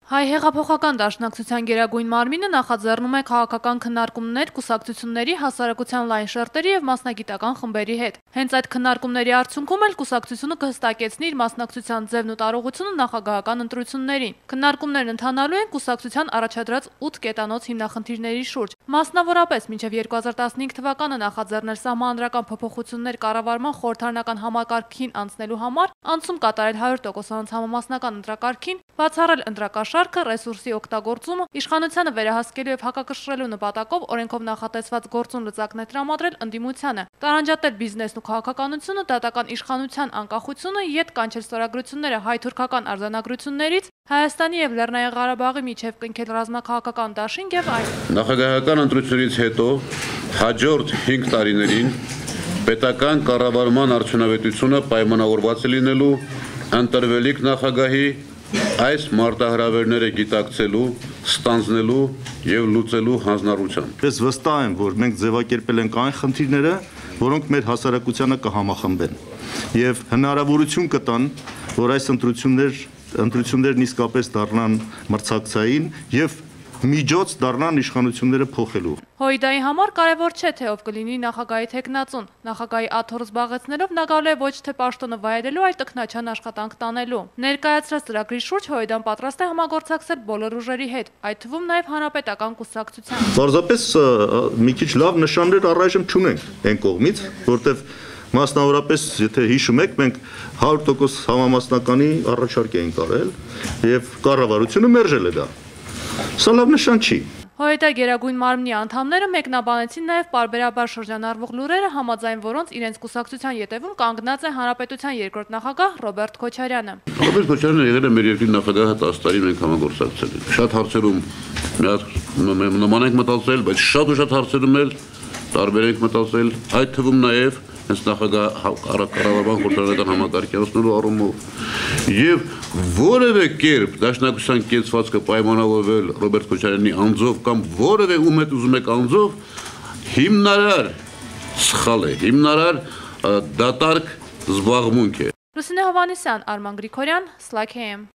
Հայ հեղափոխական դաշնակցության գերագույն մարմինը նախաձեռնում է քաղաքական քննարկումներ կուսակցությունների, հասարակության լայն շերտերի և մասնագիտական խմբերի հետ։ Հենց այդ քննարկումների արդյունքում էլ կուսակցությունը կհստակեցնի իր մասնակցության ձևն ու տարողությունը նախագահական ընտրություններին։ Քննարկումներն ընթանալու են կուսակցության առաջադրած 8 կետանոց հիմնախնդիրների շուրջ։ Մասնավորապես մինչև 2015 թվականը նախաձեռնել սահմանադրական փոփոխություններ կառավարման խորհրդարանական համակարգին անցնելու համար, անցում կատարել 100% համամասնական ընտրակարգին, բացառել ընտրակաշառքը, ռեսուրսի օգտագործումը, իշխանությանը վերահսկելու և հակակշռելու նպատակով օրենքով նախատեսված գործուն լծակներ տրամադրել ընդդիմությանը, տարանջատել բիզնեսն ու քաղաքականությունը, դատական իշխանության անկախությունը, ետ կանչել ստորագրությունները հայ-թուրքական արձանագրություններից, Հայաստանի և Լեռնային Ղարաբաղի միջև կնքել ռազմաքաղաքական դաշինք և այլն։ Նախագահական ընտրությունից հետո հաջորդ 5 տարիներին պետական կառավարման արդյունավետությունը պայմանավորված է լինելու ընտրվելիք նախագահի այս մարտահրավերները գիտակցելու, ստանձնելու և լուծելու հանձնառությամբ։ Ես վստահ եմ, որ մենք ձևակերպել ենք այն խնդիրները, որոնք մեր հասարակությանը կհամախմբեն և հնարավորություն կտան, որ այս ընտրություններն իսկապես դառնան մրցակցային և միջոց դառնան իշխանությունները փոխելու։ Հոիդայի համար կարևոր չէ, թե ով կլինի նախագահի թեկնածուն։ Նախագահի աթոռ զբաղեցնելով նա գալու է ոչ թե պաշտոնը վայելելու, այլ տքնաջան աշխատանք տանելու։ Ներկայացրած ծրագրի շուրջ Հոիդան պատրաստ է համագործակցել բոլոր ուժերի հետ, այդ թվում նաև հանրապետական կուսակցության։ Պարզապես մի քիչ լավ նշաններ առայժմ չունենք այն կողմից, որտեղ մասնավորապես, եթե հիշում եք, մենք 100% համամասնականի առաջարկ էինք արել և կառավարությունը մերժել է դա։ Սա լավ նշան չի։ Հոիդա գերագույն մարմնի անդամները մեկնաբանեցին նաև պարբերաբար շրջանառվող լուրերը, համաձայն որոնց իրենց կուսակցության ետևում կանգնած է հանրապետության երկրորդ նախագահ Ռոբերտ Քոչարյանը։ Ռոբերտ Քոչարյանը եղել է մեր երկրի նախագահը 10 տարի մենք համագործակցել ենք։ Շատ հարցերում նման ենք մտածել, բայց շատ հարցերում էլ տարբեր ենք մտածել, այդ թվում նաև հենց նախագահ կառավարման խորհրդարանական համակարգի անցնելու առումով եւ որևէ կերպ դաշնակցության կեցվածքը պայմանավորվել Ռոբերտ Քոչարյանի անձով կամ որևէ ում հետ ուզում եք անձով հիմնարար սխալ է, հիմնարար դատարկ զբաղմունք է։ Լուսինե Հովհաննիսյան, Արման Գրիգորյան, Slack AM։